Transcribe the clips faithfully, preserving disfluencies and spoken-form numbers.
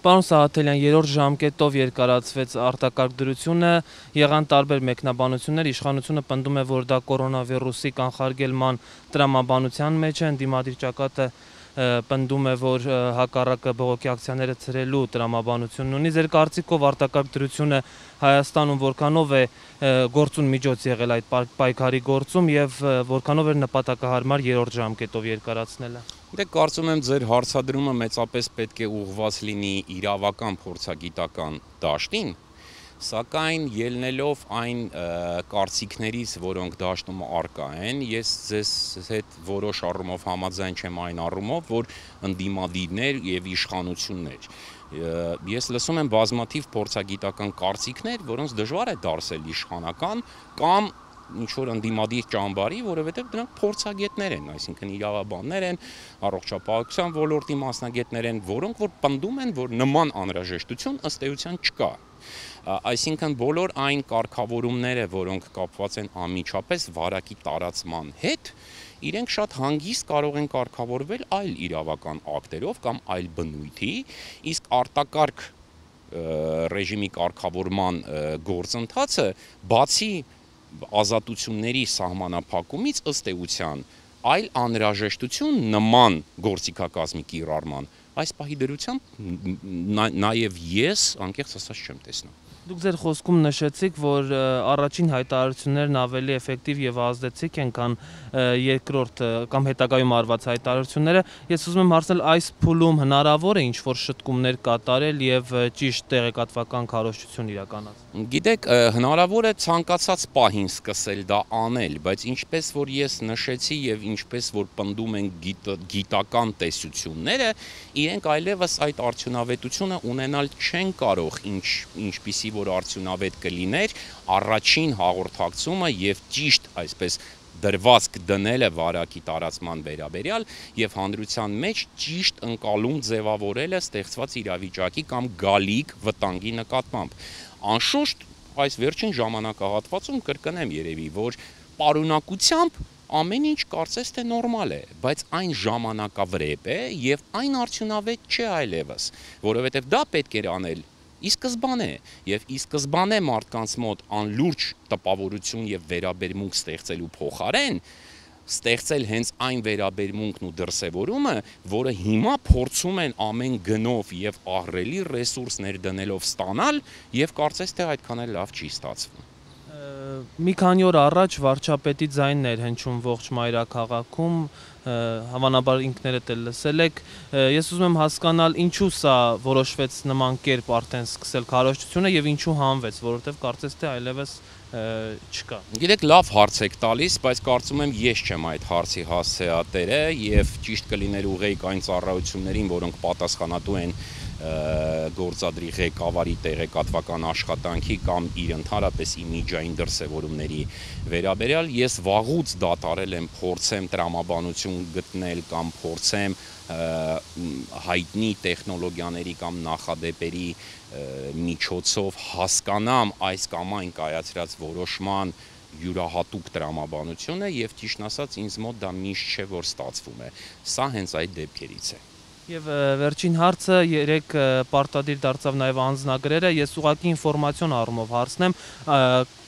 Պարոն Սահաթելյան, երրորդ ժամկետով երկարացվեց արտակարգ դրությունը, եղան տարբեր մեկնաբանություններ, իշխանությունը պնդում է, որ դա կորոնավիրուսի կանխարգելման տրամաբանության մեջ է, ընդդիմադիր ճակատը պնդում է, որ հակառակը բողոքի ակցիաները ցրելու տրամաբանությունն ունի։ Ձեր կարծիքով արտակարգ դրությունը Հայաստանում որքանով է գործուն միջոց եղել այդ պայքարի գործում եւ որքանով էր նպատակահարմար երրորդ ժամկետով երկարացնելը։ Դե կարծում եմ ձեր հարցադրումը մեծապես պետք է ուղղված լինի իրավական փորձագիտական դաշտին, սակայն ելնելով այն կարծիքներից, որոնք դաշտում առկա են, ես ձեզ հետ որոշ առումով համաձայն չեմ այն առումով, որ ընդդիմադիրներ եւ իշխանություններ։ Ես լսում եմ բազմաթիվ փորձագիտական կարծիքներ, որոնց դժվար է դարձել իշխանական կամ ինչ-որ ընդդիմադիր ճամբարի, որովհետև դրանք փորձագետներ են, այսինքն իրավաբաններ են, առողջապահության ոլորտի մասնագետներ են, որոնք որ պնդում են, որ նման անհրաժեշտություն ըստ էության չկա։ Այսինքն բոլոր այն կարգավորումները, որոնք կապված են անմիջապես վարակի տարածման հետ, իրենք շատ հանգիստ կարող են կարգավորվել այլ իրավական ակտերով կամ այլ բնույթի, իսկ արտակարգ ռեժիմի կարգավորման գործընթացը բացի ազատությունների սահմանափակումից ըստ էության այլ անհրաժեշտություն նման գործիքակազմի կիրառման այս պահի դրությամբ նաև ես անկեղծ ասած չեմ տեսնում։ Դուք ձեր խոսքում նշեցիք, որ առաջին հայտարարություններն ավելի էֆեկտիվ եւ ազդեցիկ են, քան երկրորդ կամ հետագայում արված հայտարարությունները։ Ես ուզում եմ հարցնել, այս փուլում հնարավոր է ինչ-որ շտկումներ կատարել եւ ճիշտ տեղեկատվական քարոզչություն իրականացնել։ Գիտեք, հնարավոր է ցանկացած պահին սկսել դա անել, բայց ինչպես որ ես նշեցի եւ ինչպես որ պնդում են գիտական տեսությունները, իրենք այլևս այդ արդյունավետությունը ունենալ չեն կարող, ինչ ինչպիսի որ արդյունավետ կլիներ առաջին հաղորդակցումը եւ ճիշտ այսպես դրվածք դնելը վարակի տարածման վերաբերյալ եւ հանրության մեջ ճիշտ ընկալում ձևավորելը ստեղծված իրավիճակի կամ գալիք վտանգի նկատմամբ։ Անշուշտ այս վերջին ժամանակահատվածում կրկնեմ երևի, որ պարունակությամբ ամեն ինչ կարծես թե նորմալ է, բայց այն ժամանակավրեպ է եւ այն արդյունավետ չէ այլևս, որովհետեւ դա պետք էր անել ի սկզբանե եւ ի սկզբանե մարդկանց մոտ անլուրջ տպավորություն եւ վերաբերմունք ստեղծելու փոխարեն ստեղծել հենց այն վերաբերմունքն ու դրսևորումը, որը հիմա փորձում են ամեն գնով եւ ահռելի ռեսուրսներ դնելով ստանալ եւ կարծես թե այդքան էլ լավ չի ստացվում։ Մի քանի օր առաջ վարչապետի ձայնն էր հնչում ողջ մայրաքաղաքում, հավանաբար ինքներդ էլ լսել եք։ Ես ուզում եմ հասկանալ, ինչու սա որոշվեց նման կերպ արդեն սկսել քարոզչությունը եւ ինչու հանվեց, որովհետեւ կարծես թե այլևս չկա։ Գիտեք, լավ հարց եք տալիս, բայց կարծում եմ ես չեմ այդ հարցի հասցեատերը եւ ճիշտ կլիներ ուղղեիք այն ծառայություններին, որոնք պատասխանատու են գործադրի ղեկավարի տեղեկատվական աշխատանքի կամ իր ընդհանրապես իմիջային դրսևորումների վերաբերյալ ես վաղուց դադարել եմ փորձեմ տրամաբանություն գտնել կամ փորձեմ հայտնի տեխնոլոգիաների կամ նախադեպերի միջոցով հասկանամ այս կամ այն կայացրած որոշման յուրահատուկ տրամաբանությունը եւ ճիշտն ասած ինձ մոտ դա միշտ չէ որ ստացվում է։ Սա հենց այդ դեպքերից է։ Եվ վերջին հարցը երեք պարտադիր դարձավ նաև անձնագրերը, ես ուղղակի ինֆորմացիոն առումով հարցնեմ,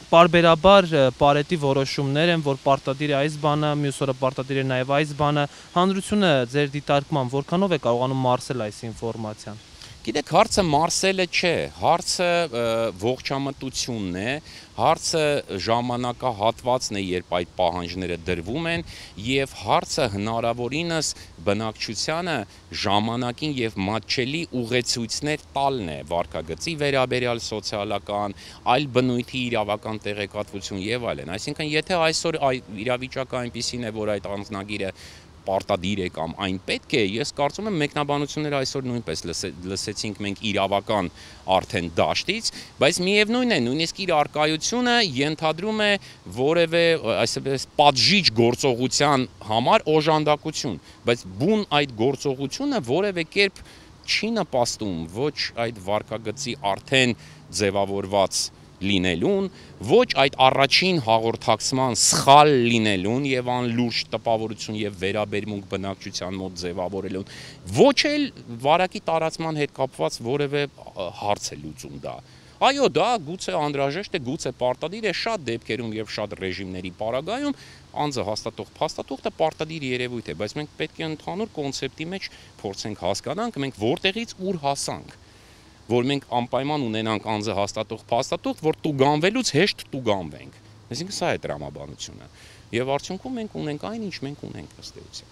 պարբերաբար Պարետի որոշումներ են, որ պարտադիր է այս բանը, մյուս օրը պարտադիր է նաև այս բանը, հանրությունը ձեր դիտարկման որքանով է կարողանում մարսել այս ինֆորմացիան։ Գիտեք, հարցը մարսելը չէ, հարցը ողջամտությունն է, հարցը ժամանակահատվածն է, երբ այդ պահանջները դրվում են եւ հարցը հնարավորինս բնակչությանը ժամանակին եւ մատչելի ուղեցույցներ տալն է վարքագծի վերաբերյալ սոցիալական, այլ բնույթի իրավական տեղեկատվություն եւ այլն։ Այսինքն, եթե այսօր իրավիճակը այնպիսին է, որ այդ անձնագիրը պարտադիր է կամ այն պետք է, ես կարծում եմ մեկնաբանությունները այսօր նույնպես լսեցինք մենք իրավական արդեն դաշտից, բայց միևնույն է, նույնիսկ իր արկայությունը ենթադրում է որևէ այսպես պատժիչ գործողության համար օժանդակություն, բայց բուն այդ գործողությունը որևէ կերպ չի նպաստում ոչ այդ վարքագծի արդեն ձևավորված լինելուն, ոչ այդ առաջին հաղորդակցման սխալ լինելուն եւ անլուրջ տպավորություն եւ վերաբերմունք բնակչության մոտ ձևավորելուն, ոչ էլ վարակի տարածման հետ կապված որևէ հարց է լուծում դա։ Այո, դա գուցե անհրաժեշտ է, գուցե պարտադիր է շատ դեպքերում եւ շատ ռեժիմների պարագայում անձը հաստատող փաստաթուղթը պարտադիր երևույթ է, բայց մենք պետք է ընդհանուր կոնցեպտի մեջ փորձենք հասկանանք, մենք որտեղից ուր հասանք, որ մենք անպայման ունենանք անձը հաստատող փաստաթուղթ, որ տուգանվելուց հեշտ տուգանվենք։ Այսինքն սա է տրամաբանությունը։ Եվ արդյունքում մենք ունենք այն, ինչ մենք ունենք ըստ էության։